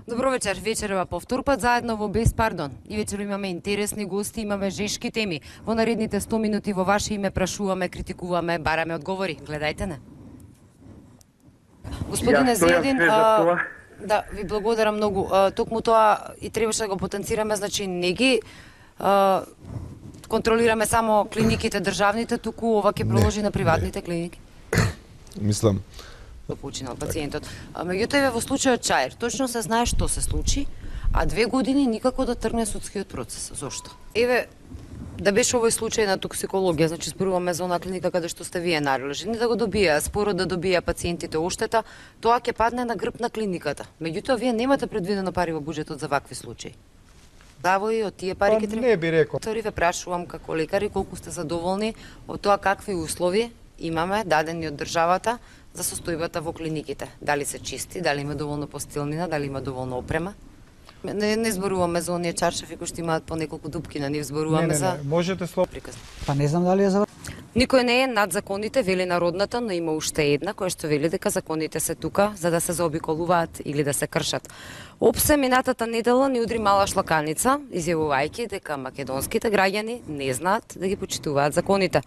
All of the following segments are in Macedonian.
Добро вечер, вечерва повтор пат заедно во Без пардон. И вечер имаме интересни гости, имаме жешки теми. Во наредните 100 минути во ваше име прашуваме, критикуваме, бараме одговори. Гледајте не. Господине Зијадин, да, ви благодарам многу. Токму тоа и требаше да го потенцираме, значи не ги контролираме само клиниките државните, туку ова ќе проложи на приватните клиники. Мислам Починал пациентот. Меѓутоа еве во случајот Чаир, точно се знае што се случи, а 2 години никако да тргне судскиот процес. Зошто? Еве, да беше овој случај на токсикологија, значи зборуваме за онаа клиника каде што сте вие надолжни да го добија, спорот да добија пациентите оштета, тоа ќе падне на грб на клиниката. Меѓутоа вие немате предвидено пари во буџетот за вакви случаи. Завои од тие пари ќе треба. Не би рекол. Ве прашувам како лекари колку сте задоволни од тоа какви услови имаме дадени од државата за состојбата во клиниките. Дали се чисти, дали има доволно постелнина, дали има доволно опрема. Не зборуваме за оние чаршафи кои што имаат по неколку дупки на нив, зборуваме за... Можете слоб... Па не знам дали е за... Никој не е над законите, вели народната, но има уште една која што вели дека законите се тука за да се заобиколуваат или да се кршат. Опсе минатата недела ни удри мала шлаканица, изјавувајќи дека македонските граѓани не знаат да ги почитуваат законите.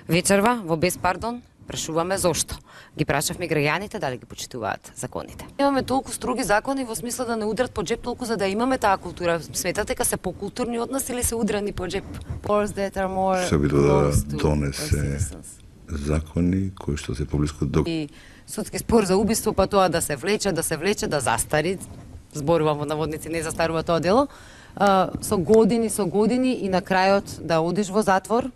Вечерва во Без пардон прашуваме зошто. Ги прашавме граѓаните дали ги почитуваат законите. Имаме толку строги закони во смисла да не удрат по джеп толку за да имаме таа култура. Сметате дека се покултурни од нас или се удрани по джеп? Се обидува да донесе закони кои што се поблиску до... И судски спор за убиство, па тоа да се влече, да застари. Зборувам во наводници, не застарува тоа дело. Со години и на крајот да одиш во затвор,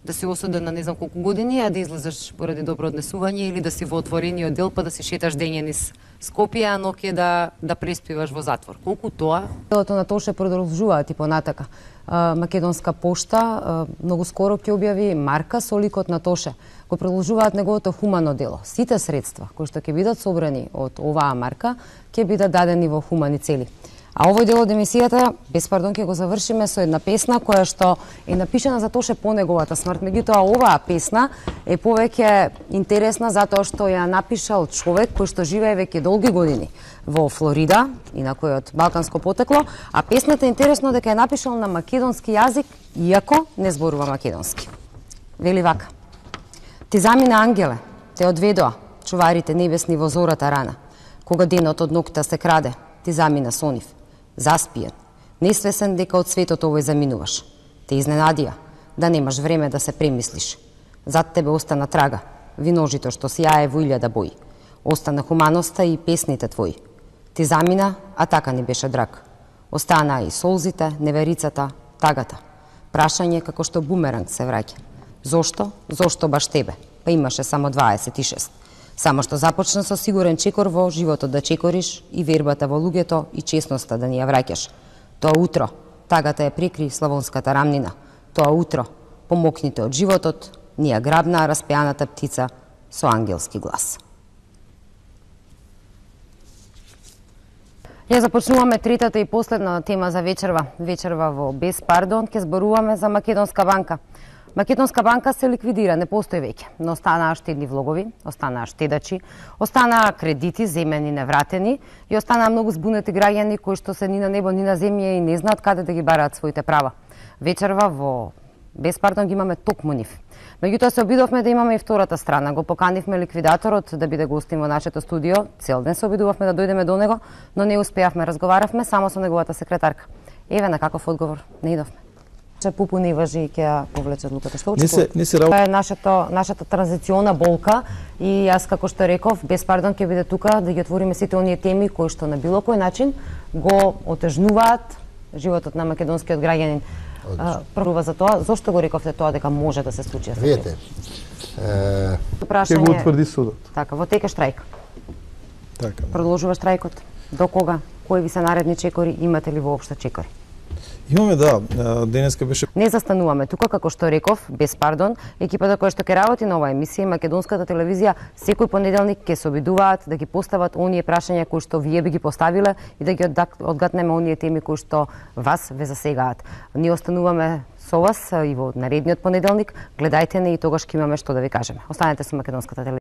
да си осуден на не знам колку години, а да излезеш поради добро однесување или да си во отворениот дел па да си шеташ дење низ Скопје, а ноќе да преспиваш во затвор. Колку тоа? Делото на Тоше продолжуваат и понатака. Македонска пошта многу скоро ќе објави марка со ликот на Тоше. Го продолжуваат неговото хумано дело. Сите средства кои што ќе бидат собрани од оваа марка ќе бидат дадени во хумани цели. А овој дел од емисијата, без пардон, ќе го завршиме со една песна која што е напишана за Тоше по неговата смрт. Меѓутоа, оваа песна е повеќе интересна затоа што ја напишал човек кој што живее веќе долги години во Флорида, инакој од балканско потекло, а песната е интересно дека ја напишал на македонски јазик, иако не зборува македонски. Вели вака: Ти замина ангеле, те одведоа чуварите небесни во зората рана, кога денот од ноќта се краде, ти замина со нив. Заспиен, несвесен дека од светот овој заминуваш. Те изненадија, да немаш време да се премислиш. Зад тебе остана трага, виножито што сјае во илјада бои. Остана хуманоста и песните твои. Ти замина, а така не беше драг. Останаа и солзите, неверицата, тагата. Прашање како што бумеранг се враќа. Зошто? Зошто баш тебе? Па имаше само 26. Само што започна со сигурен чекор во животот да чекориш и вербата во луѓето и честноста да ни ја враќаш. Тоа утро, тагата ја прикри славонската рамнина. Тоа утро, помокните од животот, ни ја грабна распеаната птица со ангелски глас. Ја започнуваме третата и последна тема за вечерва. Вечерва во Без пардон ќе зборуваме за Македонска банка. Македонска банка се ликвидира, не постои веќе, но останаа штедни влогови, останаа штедачи, останаа кредити земени невратени и останаа многу збунети граѓани кои што се ни на небо, ни на земја и не знаат каде да ги бараат своите права. Вечерва во Без пардон ги имаме токму нив. Меѓутоа се обидовме да имаме и втората страна. Го поканивме ликвидаторот да биде гостин во нашето студио. Цел ден се обидувавме да дојдеме до него, но не успеавме. Разговаравме само со неговата секретарка. Еве на каков одговор не идовме. Пупу не важи и ќе ја повлече одлуката. Што очекувате? Тоа е нашата транзициона болка и јас како што реков, Без пардон ќе биде тука да ги отвориме сите оние теми кои што на било кој начин го отежнуваат животот на македонскиот граѓанин. Прва за тоа, зошто го рековте тоа дека може да се случи? Видете, ќе го утврди судот. Така, во тека штрајк. Така. Продолжува штрајкот. До кога? Кои ви се наредни чекори? Имате ли воопшто чекори? Имаме, да, денеска беше... Не застануваме тука, како што реков, Без пардон, екипата која што ќе работи на оваа емисија, Македонската телевизија, секој понеделник ќе се обидуваат да ги постават оние прашања кои што вие би ги поставиле и да ги одгатнеме оние теми кои што вас ве засегаат. Ние остануваме со вас и во наредниот понеделник, гледајте не и тогаш ќе имаме што да ви кажеме. Останете со Македонската телевизија.